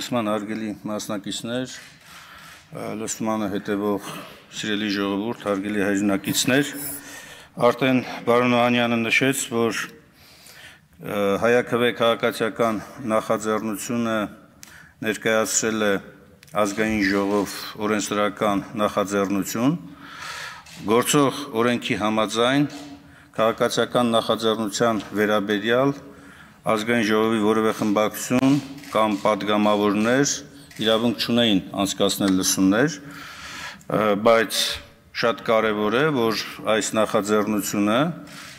լսման հարգելի մասնակիցներ, լսմանը հետևող սիրելի ժողովուրդ, հարգելի հայրենակիցներ, արդեն պարոն Օհանյանը նշեց, որ հայաքվե քաղաքացիական նախաձեռնությունը ներկայացրել է ազգային ժողով օրենսդրական նախաձեռնություն, գործող օրենքի համաձայն քաղաքացիական նախաձեռնության վերաբերյալ ազգային ժողովի որևէ խմբակցություն կամ պատգամավորներ իրավունք չունեին անցկացնել լսումներ, բայց շատ կարևոր է, որ այս նախաձեռնությունը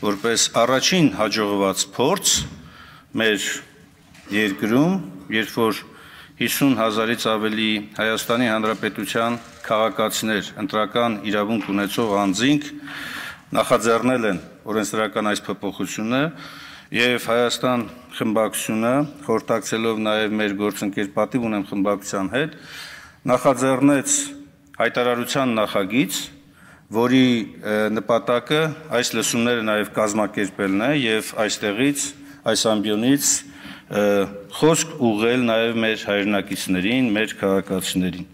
որպես առաջին հաջողված փորձ մեր երկրում, երբ որ 50,000-ից ավելի Հայաստանի Հանրապետության քաղաքացիներ, ընտրական իրավունք ունեցող անձինք նախաձեռնել են օրենսդրական այս փոփոխությունը եւ Հայաստան խմբակցությունը, խորհրդակցելով նաեւ մեր գործընկեր պատիվ ունեմ խմբակցության հետ, նախաձեռնեց հայտարարության նախագիծ, որի նպատակը այս լսումները նաեւ կազմակերպելն է եւ այստեղից, այս ամբիոնից խոսք ուղղել նաեւ մեր հայրենակիցներին, մեր քաղաքացիներին։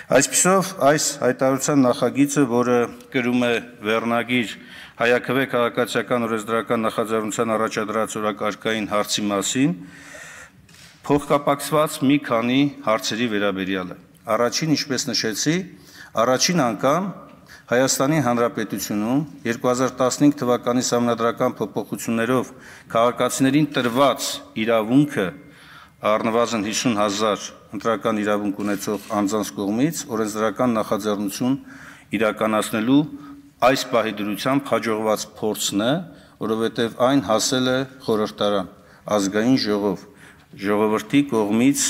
Այսպիսով, այս հայտարարության նախագիծը, որը կրում է վերնագիր հայաքվե քաղաքացիական օրենսդրական նախաձեռնության առաջադրած օրակարգային հարցի մասին, փոխկապակցված մի քանի հարցերի վերաբերյալ է։ Առաջին, ինչպես նշեցի, առաջին անգամ Հայաստանի Հանրապետությունում 2015 թվականի սահմանադրական փոփոխություններով քաղաքացիներին տրված իրավունքը առնվազն 50,000 ընտրական իրավունք ունեցող անձանց կողմից օրենսդրական նախաձեռնություն իրականացնելու այս պահի դրությամբ հաջողված փորձն է, որովհետև այն հասել է խորհրդարան, ազգային ժողով, ժողովրդի կողմից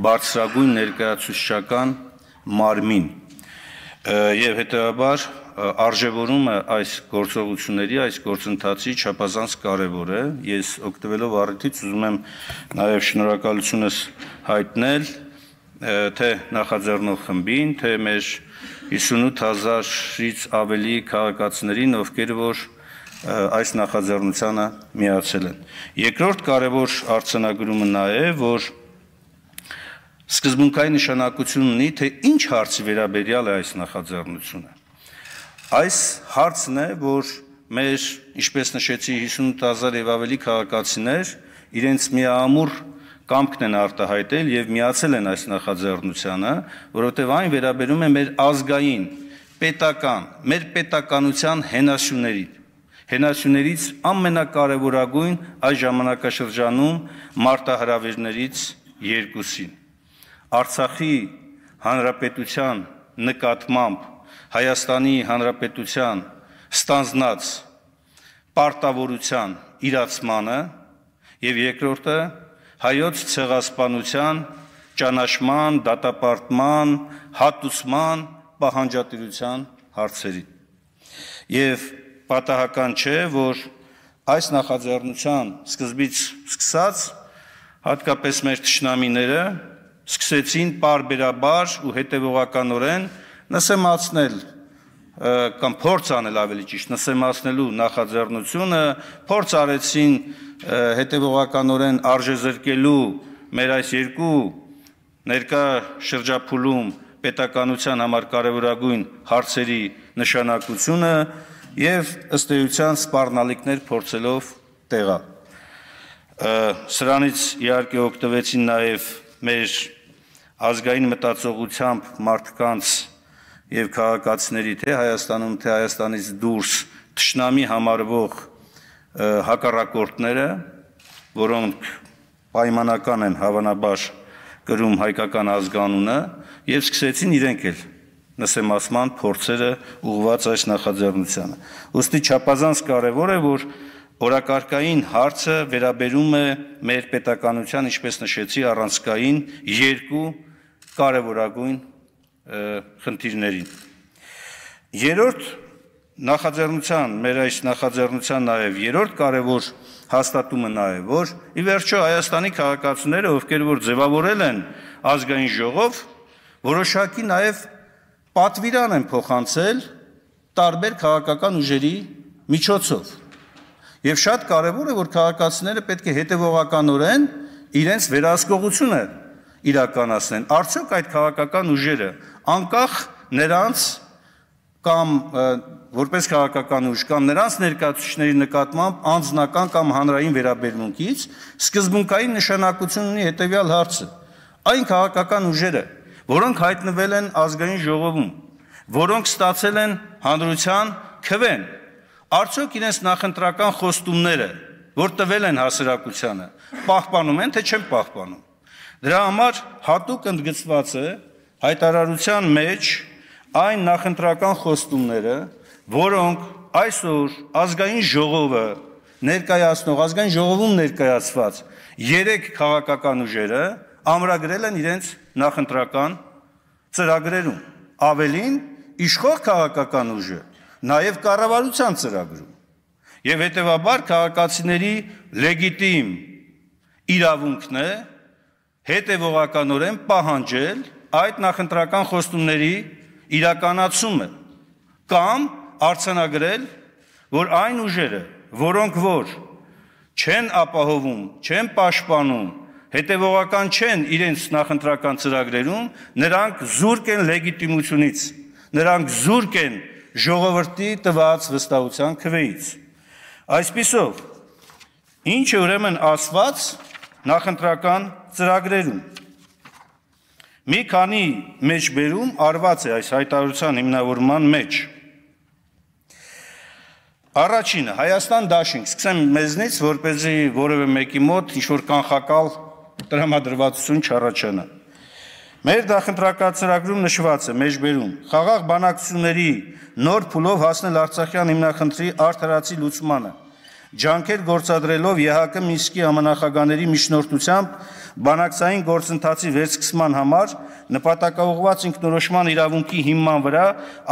բարձրագույն ներկայացուցչական մարմին եւ հետեւաբար արժեվորումը այս գործողությունների, այս գործընթացի չափազանց կարևոր է։ Ես օգտվելով առիթից ուզում եմ նաեւ շնորհակալությունս հայտնել թե նախաձեռնող խմբին, թե մեր 58,000-ից ավելի քաղաքացիներին, ովքեր որ այս նախաձեռնությանը միացել են։ Երկրորդ կարևոր արձանագրումը նա է, որ սկզբունքային նշանակություն ունի, թե ինչ հարցի վերաբերյալ է այս նախաձեռնությունը։ Այս հարցն է, որ մեր, ինչպես նշեցի, 58,000 եւ ավելի քաղաքացիներ իրենց միամուռ կամքն են արտահայտել եւ միացել են այս նախաձեռնությանը, որովհետեւ այն վերաբերում է մեր ազգային, պետական, մեր պետականության հենասյուներից ամենակարևորագույն այս ժամանակաշրջանում մարտահրավերներից երկուսին։ Արցախի Հանրապետության նկատմամբ Հայաստանի Հանրապետության ստանձնած պարտավորության իրացմանը եւ երկրորդը հայոց ցեղասպանության ճանաչման, դատապարտման, հատուցման պահանջատիրության հարցերին։ Եվ պատահական չէ, որ այս նախաձեռնության սկզբից սկսած հատկապես մեր թշնամիները սկսեցին պարբերաբար ու հետևողականորեն նսեմացնել կամ փորձ անել ավելի ճիշտ նսեմացնելու նախաձեռնությունը, փորձ արեցին հետևողականորեն արժեզրկելու մեր այս երկու ներկա շրջափուլում պետականության համար կարևորագույն հարցերի նշանակությունը եւ ըստ էության սպառնալիքներ փորձելով տեղալ։ Սրանից իհարկե օգտվեցին նաեւ մեր ազգային մտածողությամբ մարդկանց եւ քաղաքացիների թե Հայաստանում, թե Հայաստանից դուրս թշնամի համարվող հակառակորդները, որոնք պայմանական են հավանաբար կրում հայկական ազգանունը եւ սկսեցին իրենք էլ նսեմացման փորձերը ուղղված այս նախաձեռնությանը։ Ոստի չափազանց կարևոր է, որ օրակարգային հարցը վերաբերում է մեր պետականության, ինչպես նշեցի, առանցքային երկու կարևորագույն խնդիրներին։ Երրորդ նախաձեռնության, մեր այս նախաձեռնության նաև երրորդ կարևոր հաստատումը նա է, որ ի վերջո Հայաստանի քաղաքացիները, ովքեր որ ձևավորել են ազգային ժողով, որոշակի նաև պատվիրան են փոխանցել տարբեր քաղաքական ուժերի միջոցով։ Եվ շատ կարևոր է, որ քաղաքացիները պետք է հետևողականորեն իրենց վերահսկողությունը իրականացնեն, արդյոք այդ քաղաքական ուժերը անկախ նրանց կամ որպես քաղաքական ուժ կամ նրանց ներկայացուցիչների նկատմամբ անձնական կամ հանրային վերաբերմունքից սկզբունքային նշանակություն ունի հետևյալ հարցը. այն քաղաքական ուժերը, որոնք հայտնվել են ազգային ժողովում, որոնք ստացել են հանրության քվեն, արդյոք իրենց նախընտրական խոստումները, որ տվել են հասարակությանը, պահպանում են, թե չեն պահպանում։ Դրա համար հատուկ ընդգծված է հայտարարության մեջ այն նախընտրական խոստումները, որոնք այսօր ազգային ժողովը ներկայացնող, ազգային ժողովում ներկայացված 3 քաղաքական ուժերը ամրագրել են իրենց նախընտրական ծրագրերում, ավելին իշխող քաղաքական ուժը նաև կառավարության ծրագրում, եւ հետեւաբար քաղաքացիների լեգիտիմ իրավունքն է հետևողականորեն պահանջել այդ նախընտրական խոստումների իրականացումը կամ արձանագրել, որ այն ուժերը, որոնք որ չեն ապահովում, չեն պաշտպանում, հետևողական չեն իրենց նախընտրական ծրագրերում, նրանք զուրկ են լեգիտիմությունից, նրանք զուրկ են ժողովրդի տված վստահության քվեից։ Այսպիսով, ինչ է ուրեմն ասված նախընտրական ծրագրերում։ Մի քանի մեջբերում արված է այս հայտարարության հիմնավորման մեջ։ Առաջինը, Հայաստան դաշինք, սկսեմ մեզնից, որպեսզի որևէ մեկի մոտ ինչ-որ կանխակալ տրամադրվածություն չառաջանա։ Մեր նախընտրական ծրագրում նշված է մեջբերում խաղաղ բանակցությունների նոր փուլով հասնել Արցախյան հիմնախնդրի արդարացի լուծմանը, ջանքեր գործադրելով ԵՀԿ Մինսկի համանախագահների միջնորդությամբ բանակցային գործընթացի վերսկսման համար նպատակաուղղված ինքնորոշման իրավունքի հիման վրա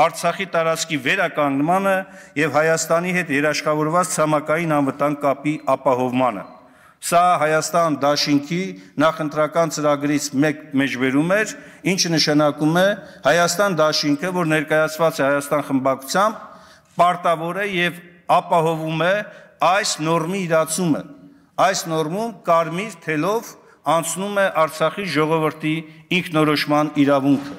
Արցախի տարածքի վերականգնմանը եւ Հայաստանի հետ երաշխավորված ցամաքային անվտանգ կապի ապահովմանը։ Սա Հայաստան դաշինքի նախընտրական ծրագրից մեկ մեջբերում էր, ինչը նշանակում է Հայաստան դաշինքը, որ ներկայացված է Հայաստան խմբակցությամբ, պարտավոր է եւ ապահովում է այս նորմի իրացումը։ Այս նորմում կարմիր թելով անցնում է Արցախի ժողովրդի ինքնորոշման իրավունքը,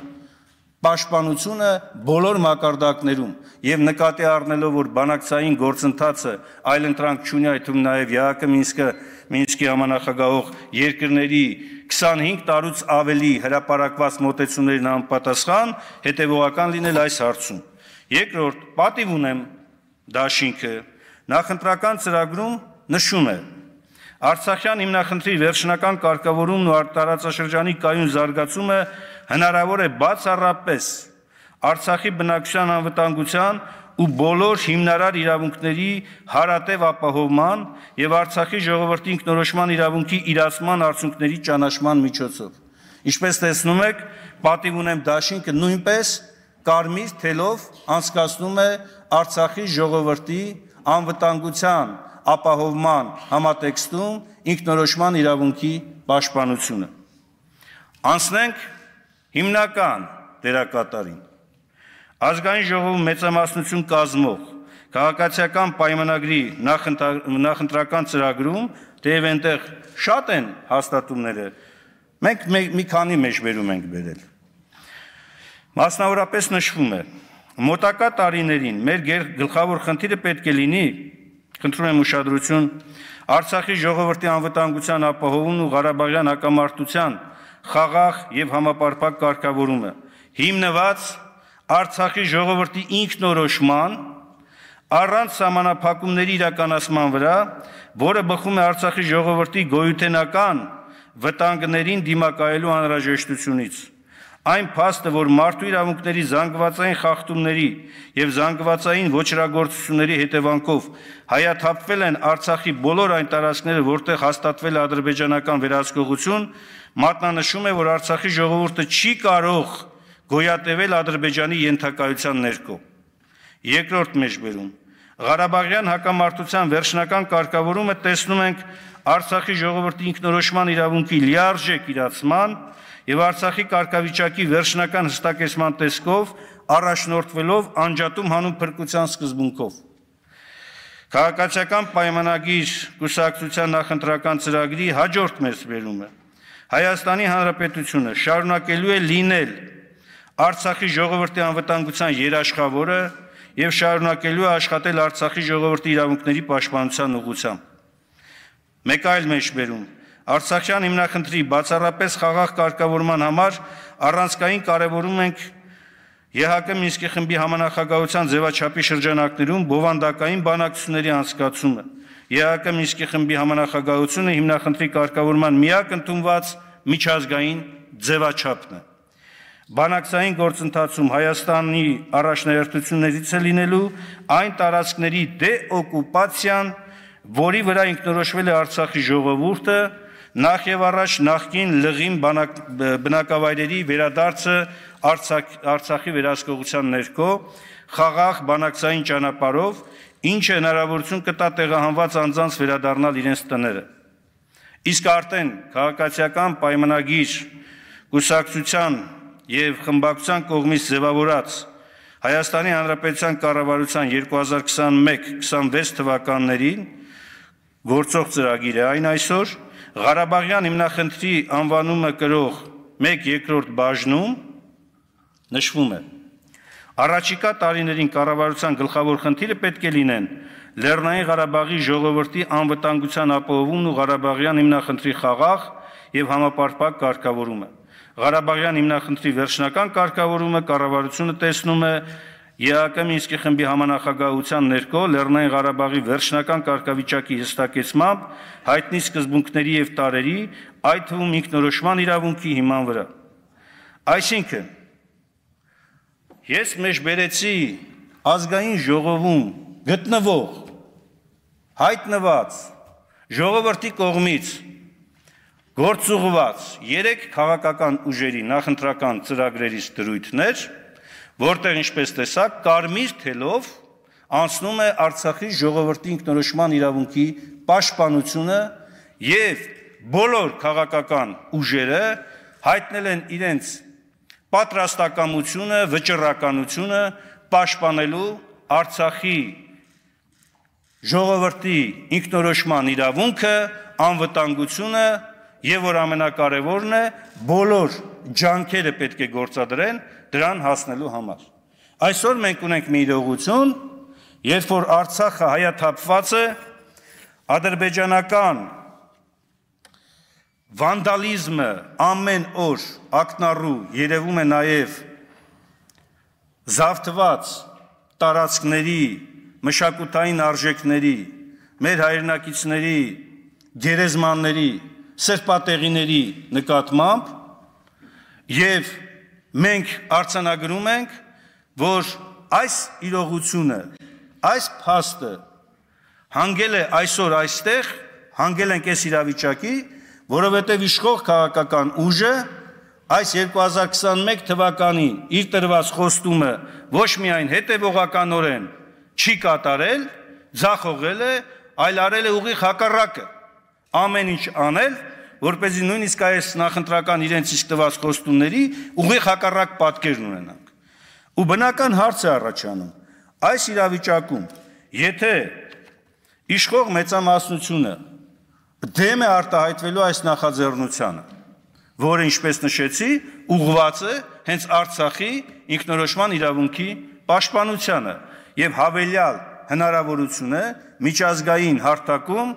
պաշտպանությունը բոլոր մակարդակներում եւ նկատի առնելով, որ բանակցային գործընթացը այլընտրանք չունի, այդ թվում նաեւ ԵՀԿ Մինսկի համանախագահող երկրների 25 տարուց ավելի հրապարակված մոտեցումներին անպատասխան, հետևողական լինել այս հարցում։ Երկրորդ, պատիվ ունեմ դաշինքը նախընտրական ծրագրում նշում է. Արցախյան հիմնախնդրի վերջնական կարգավորումն ու տարածաշրջանի կայուն զարգացումը հնարավոր է բացառապես Արցախի բնակչության անվտանգության ու բոլոր հիմնարար իրավունքների հարատև ապահովման եւ Արցախի ժողովրդի ինքնորոշման իրավունքի իրացման արդյունքների ճանաչման միջոցով։ Ինչպես տեսնում եք, պատիվ ունեմ դաշինքը նույնպես կարմիր թելով անցկացնում է Արցախի ժողովրդի անվտանգության ապահովման համատեքստում ինքնորոշման իրավունքի պաշտպանությունը։ Անցնենք հիմնական դերակատարին։ Ազգային ժողովում մեծամասնություն կազմող քաղաքացիական պայմանագրի նախընտրական ծրագրում, թեև այնտեղ շատ են հաստատումները, մենք մի քանի մեջբերում ենք բերել։ Մասնավորապես նշվում է. մոտակա տարիներին մեր գլխավոր խնդիրը պետք է լինի, խնդրում եմ ուշադրություն, Արցախի ժողովրդի անվտանգության ապահովումն ու Ղարաբաղյան հակամարտության խաղաղ եւ համապարփակ կարգավորումը, հիմնված Արցախի ժողովրդի ինքնորոշման առանց սահմանափակումների իրականացման վրա, որը բխում է Արցախի ժողովրդի գոյութենական վտանգներին դիմակայելու անհրաժեշտությունից։ Այն փաստը, որ մարդու իրավունքների զանգվածային խախտումների եւ զանգվածային ոչրագործությունների հետևանքով հայաթափվել են Արցախի բոլոր այն տարածքները, որտեղ հաստատվել է ադրբեջանական վերահսկողություն, մատնանշում է, որ Արցախի ժողովուրդը չի կարող գոյատևել Ադրբեջանի ենթակայության ներքո։ Երկրորդ մեջբերում. Ղարաբաղյան հակամարտության վերջնական կարգավորումը տեսնում ենք Արցախի ժողովրդի ինքնորոշման իրավունքի լիարժեք իրացման եւ Արցախի կարգավիճակի վերջնական հստակեցման տեսքով առաջնորդվելով անջատում հանուն փրկության սկզբունքով։ Քաղաքացիական պայմանագիր կուսակցության նախընտրական ծրագրի հաջորդ մեջբերումը. Հայաստանի Հանրապետությունը շարունակելու է լինել Արցախի ժողովրդի անվտանգության երաշխավորը եւ շարունակելու է աշխատել Արցախի ժողովրդի իրավունքների պաշտպանության ուղղությամբ։ Մեկ այլ մեջբերում Արցախյան հիմնախնդրի բացառապես խաղաղ կարգավորման համար առանցքային կարևորում ենք ԵՀԿ Մինսկի խմբի համանախագահության ձևաչափի շրջանակներում բովանդակային բանակցությունների անցկացումը։ ԵՀԿ Մինսկի խմբի համանախագահությունը հիմնախնդրի կարգավորման միակ ընդունված միջազգային ձևաչափն է։ Բանակցային գործընթացում Հայաստանի առաջնահերթություններից է լինելու այն տարածքների դեօկուպացիան, որի վրա ինքնորոշվել է Արցախի ժողովուրդը, նախ եւ առաջ նախկին լղիմ բնակավայրերի վերադարձը Արցախի վերահսկողության ներքո խաղաղ բանակցային ճանապարհով, ինչը հնարավորություն կտա տեղահանված անձանց վերադառնալ իրենց տները։ Իսկ արդեն քաղաքացիական պայմանագիր կուսակցության եւ խմբակցության կողմից ձևավորած Հայաստանի Հանրապետության կառավարության 2021-26 թվականներին գործող ծրագիր է այն այսօր Ղարաբաղյան հիմնախնդրի անվանումը կրող 1/2 բաժնում նշվում է. Առաջիկա տարիներին կառավարության գլխավոր խնդիրը պետք է լինեն Լեռնային Ղարաբաղի ժողովրդի անվտանգության ապահովումն ու Ղարաբաղյան հիմնախնդրի խաղաղ եւ համապարփակ կարգավորումը։ Ղարաբաղյան հիմնախնդրի վերջնական կարգավորումը կառավարությունը տեսնում է ԵԱԿ Մինսկի խմբի համանախագահության ներքո Լեռնային Ղարաբաղի վերջնական կարգավիճակի հստակեցմամբ հայտնի սկզբունքների եւ տարերի, այդ թվում ինքնորոշման իրավունքի հիման վրա։ Այսինքն, ես մեջբերեցի ազգային ժողովում գտնվող հայտնված ժողովրդի կողմից գործուղված 3 քաղաքական ուժերի նախընտրական ծրագրերից դրույթներ, որտեղ ինչպես տեսակ կարմիր թելով անցնում է Արցախի ժողովրդի ինքնորոշման իրավունքի պաշտպանությունը եւ բոլոր քաղաքական ուժերը հայտնել են իրենց պատրաստակամությունը, վճռականությունը պաշտպանելու Արցախի ժողովրդի ինքնորոշման իրավունքը, անվտանգությունը եւ որ ամենակարևորն է, բոլոր ջանքերը պետք է գործադրեն դրան հասնելու համար։ Այսօր մենք ունենք մի իրողություն, երբ որ Արցախը հայաթափված է, ադրբեջանական վանդալիզմը ամեն օր ակնառու երևում է նաև զավթված տարածքների, մշակութային արժեքների, մեր հայրենակիցների, գերեզմանների, սրբատեղիների նկատմամբ եւ մենք արձանագրում ենք, որ այս իրողությունը, այս փաստը հանգել է այսօր այստեղ, հանգել ենք այս իրավիճակի, որովհետև իշխող քաղաքական ուժը այս 2021 թվականին իր տրված խոստումը ոչ միայն հետևողականորեն չի կատարել, ձախողել է, այլ արել է ուղիղ հակառակը, ամեն ինչ անել, որպեսզի նույնիսկ այս նախընտրական իրենց իսկ տված խոստումների ուղիղ հակառակ պատկերն ունենանք։ Ու բնական հարց է առաջանում, այս իրավիճակում, եթե իշխող մեծամասնությունը դեմ է արտահայտվելու այս նախաձեռնությանը, որը, ինչպես նշեցի, ուղղված է հենց Արցախի ինքնորոշման իրավունքի պաշտպանությանը եւ հավելյալ հնարավորությունը միջազգային հարթակում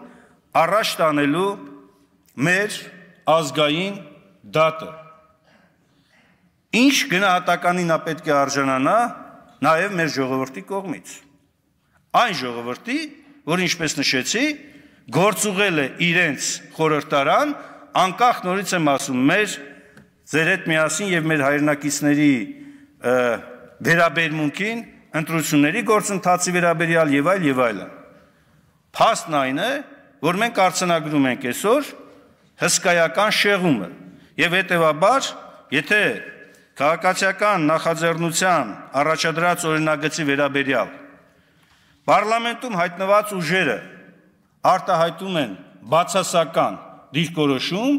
առաջ տանելու մեր ազգային դատը։ Ինչ գնահատականին նա պետք է արժանանա նաեւ մեր ժողովրդի կողմից։ Այն ժողովրդի, որ ինչպես նշեցի, գործուղել է իրենց խորհրդարան, անկախ նորից եմ ասում, մեր ձեր հետ միասին եւ մեր հայրենակիցների վերաբերմունքին, ընտրությունների գործընթացի վերաբերյալ եւ այլն։ Փաստն այն է, որ մենք արձանագրում ենք այսօր հսկայական շեղումը եւ հետեւաբար, եթե քաղաքացիական նախաձեռնության առաջադրած օրինագծի վերաբերյալ Պարլամենտում հայտնված ուժերը արտահայտում են բացասական դիրքորոշում,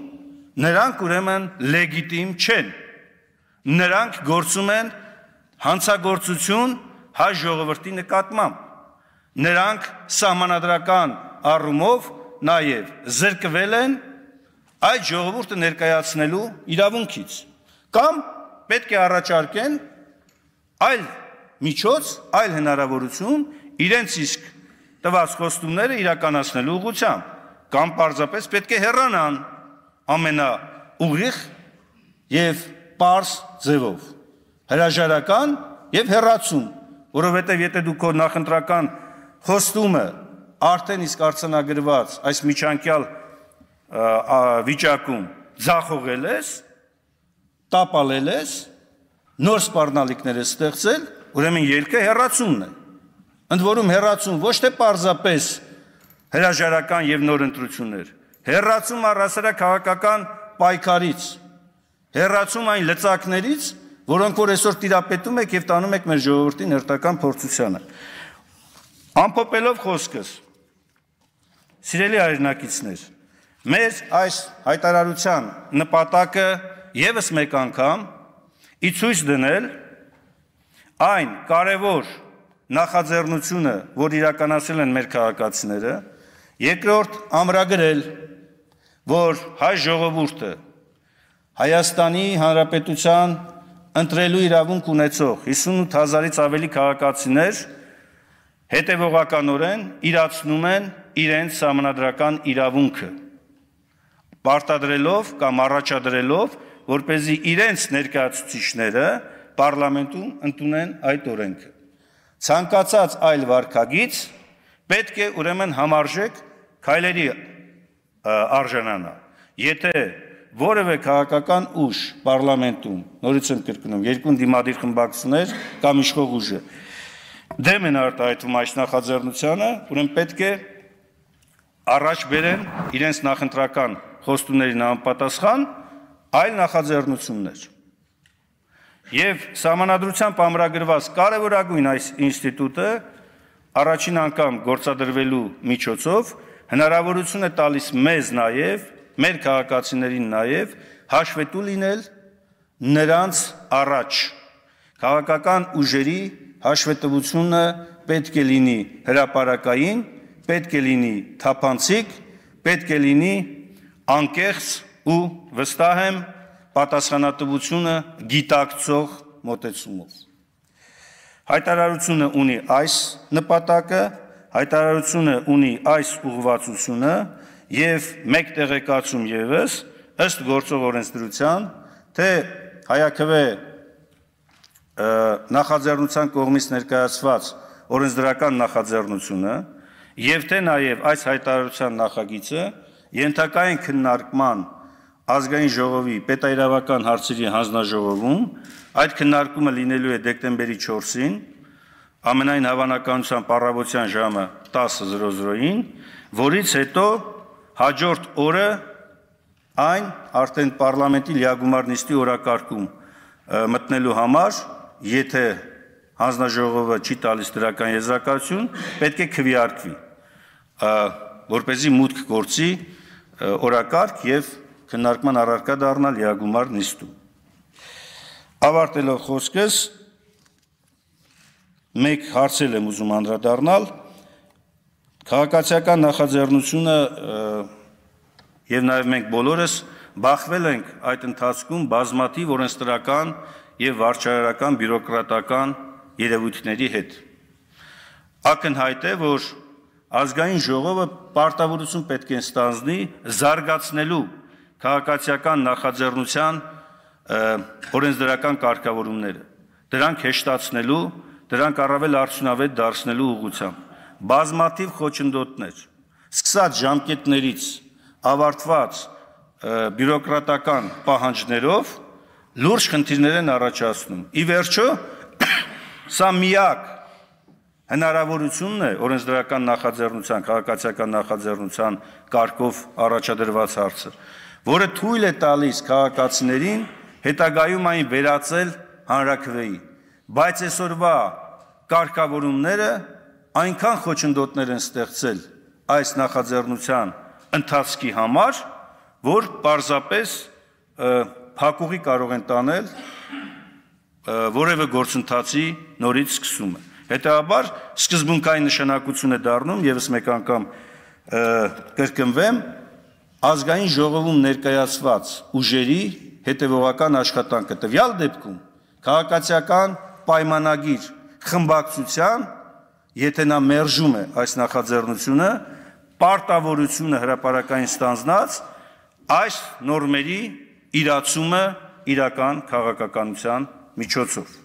նրանք ուրեմն լեգիտիմ չեն։ Նրանք գործում են հանցագործություն հայ ժողովրդի նկատմամբ։ Նրանք սահմանադրական առումով նաև զրկվել են այդ ժողովուրդը ներկայացնելու իրավունքից, կամ պետք է առաջարկեն այլ միջոց, այլ հնարավորություն իրենց իսկ տված խոստումները իրականացնելու ուղղությամբ, կամ պարզապես պետք է հեռանան ամենաուղիղ եւ պարզ ձևով, հրաժարական եւ հեռացում, որովհետեւ եթե դու քո նախընտրական խոստումը արդեն իսկ արձանագրված այս միջանկյալ վիճակում ձախողել ես, տապալել ես, նոր սպառնալիքներ ես ստեղծել, ուրեմն ելքը հեռացումն է։ Ընդ որում հեռացում ոչ թե պարզապես հրաժարական եւ նոր ընտրություններ, հեռացում առհասարակ քաղաքական պայքարից, հեռացում այն լծակներից, որոնք որ այսօր տիրապետում եք եւ տանում եք մեր ժողովրդի ներտական փորձությանը։ Ամփոփելով խոսքս, սիրելի հայրենակիցներ, մեր այս հայտարարության նպատակը եւս մեկ անգամ ի ցույց դնել այն կարևոր նախաձեռնությունը, որ իրականացրել են մեր քաղաքացիները, երկրորդ ամրագրել, որ հայ ժողովուրդը Հայաստանի Հանրապետության ընտրելու իրավունք ունեցող 58,000-ից ավելի քաղաքացիներ հետևողականորեն իրացնում են իրենց սահմանադրական իրավունքը, պարտադրելով կամ առաջադրելով, որպեսզի իրենց ներկայացուցիչները պարլամենտում ընդունեն այդ օրենքը։ Ցանկացած այլ վարքագիծ պետք է ուրեմն համարժեք քայլերի արժանանա։ Եթե որևէ քաղաքական ուժ պարլամենտում, նորից եմ կրկնում, երկու դիմադիր խմբակցություններ կամ իշխող ուժը դեմ են արտահայտվում այս նախաձեռնությանը, ուրեմն պետք է առաջ բերեն իրենց նախընտրական խոստումներին համապատասխան այլ նախաձեռնություններ։ Եվ սահմանադրությամբ ամրագրված կարևորագույն այս ինստիտուտը առաջին անգամ գործադրվելու միջոցով հնարավորություն է տալիս մեզ նաև, մեր քաղաքացիներին նաև հաշվետու լինել նրանց առաջ։ Քաղաքական ուժերի հաշվետվությունը պետք է լինի հրապարակային, պետք է լինի թափանցիկ, պետք է լինի անկեղծ ու վստահ եմ պատասխանատվությունը գիտակցող մոտեցումով։ Հայտարարությունը ունի այս նպատակը, հայտարարությունը ունի այս ուղղվածությունը եւ մեկ տեղեկացում եւս ըստ գործող օրենսդրության, թե հայաքվե նախաձեռնության կողմից ներկայացված օրենսդրական նախաձեռնությունը եւ թե նաեւ այս հայտարարության նախագիծը ենթակա են քննարկման ազգային ժողովի պետաիրավական հարցերի հանձնաժողովում, այդ քննարկումը լինելու է դեկտեմբերի 4-ին, ամենայն հավանականությամբ առավոտյան ժամը 10:00-ին, որից հետո հաջորդ օրը այն արդեն պարլամենտի լիագումար նիստի օրակարգում մտնելու համար, եթե հանձնաժողովը չի տալիս դրական եզրակացություն, պետք է քվեարկվի, որպեսզի մուտք գործի օրակարգ եւ քննարկման առարկա դառնա լիագումար նիստում։ Ավարտելով խոսքս, մեկ հարցել եմ ուզում անդրադառնալ, քաղաքացիական նախաձեռնությունը եւ նաեւ մենք բոլորս բախվել ենք այդ ընթացքում բազմաթիվ օրենսդրական եւ վարչարարական բյուրոկրատական երևույթների հետ։ Ակնհայտ է, որ ազգային ժողովը պարտավորություն պետք է ստանձնի զարգացնելու քաղաքացիական նախաձեռնության օրենսդրական կարգավորումները, դրանք հեշտացնելու, դրանք առավել արդյունավետ դարձնելու ուղղությամբ։ Բազմաթիվ խոչընդոտներ, սկսած ժամկետներից, ավարտված բյուրոկրատական պահանջներով լուրջ խնդիրներ են առաջացնում։ Ի վերջո, սա միակ հնարավորությունն է օրենսդրական նախաձեռնության, քաղաքացիական նախաձեռնության կարգով առաջադրված հարցը, որը թույլ է տալիս քաղաքացիներին հետագայում այն վերածել հանրաքվեի, բայց այսօրվա կարգավորումները այնքան խոչընդոտներ են ստեղծել այս նախաձեռնության ընթացքի համար, որ պարզապես փակուղի կարող են տանել որևէ գործընթացի նորից սկսումը։ Հետևաբար սկզբունքային նշանակություն է դառնում, եւս մեկ անգամ կրկնվեմ, ազգային ժողովում ներկայացված ուժերի հետևողական աշխատանքը, տվյալ դեպքում քաղաքացիական պայմանագիր խմբակցության, եթե նա մերժում է այս նախաձեռնությունը, պարտավորությունը հրապարակային ստանձնած այս նորմերի իրացումը իրական քաղաքականության միջոցով։